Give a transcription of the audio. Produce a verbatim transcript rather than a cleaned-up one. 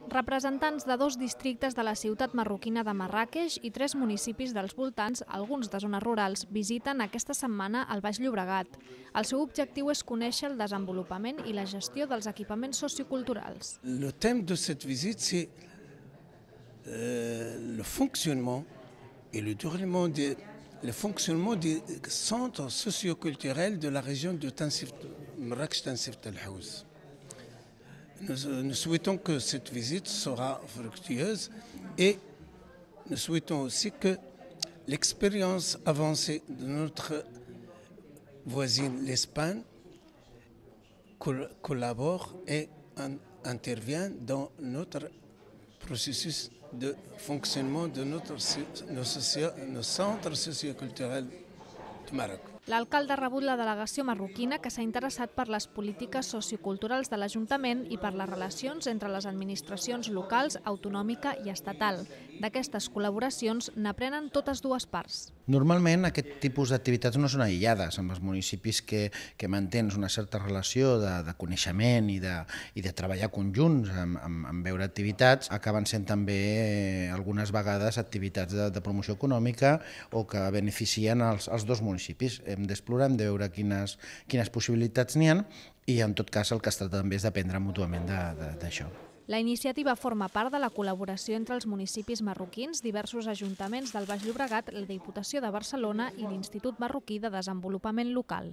Representants de dos districtes de la ciutat marroquina de Marràqueix i tres municipis dels voltants, alguns de zones rurals, visiten aquesta setmana el Baix Llobregat. El seu objectiu és conèixer el desenvolupament i la gestió dels equipaments socioculturals. Le thème de cette visite, c'est euh, le fonctionnement et le déroulement des, le fonctionnement des centres socioculturels de la région de Tansif, Marrakech-Tansif Tel Haouz. Nous, nous souhaitons que cette visite sera fructueuse et nous souhaitons aussi que l'expérience avancée de notre voisine l'Espagne collabore et intervient dans notre processus de fonctionnement de notre, nos, socio, nos centres socioculturels du Maroc. L'alcalde ha rebut la delegació marroquina que s'ha interessat per les polítiques socioculturals de l'Ajuntament i per les relacions entre les administracions locals, autonòmica i estatal. D'aquestes col·laboracions n'aprenen totes dues parts. Normalment aquest tipus d'activitats no són aïllades. Amb els municipis que, que mantens una certa relació de, de coneixement i de, i de treballar conjunts amb, amb, amb veure activitats, acaben sent també eh, algunes vegades activitats de, de promoció econòmica o que beneficien els, els dos municipis. Hem d'explorar, hem de veure quines, quines possibilitats n'hi ha i en tot cas el que es tracta també és d'aprendre mútuament d'això. La iniciativa forma part de la col·laboració entre els municipis marroquins, diversos ajuntaments del Baix Llobregat, la Diputació de Barcelona i l'Institut Marroquí de Desenvolupament Local.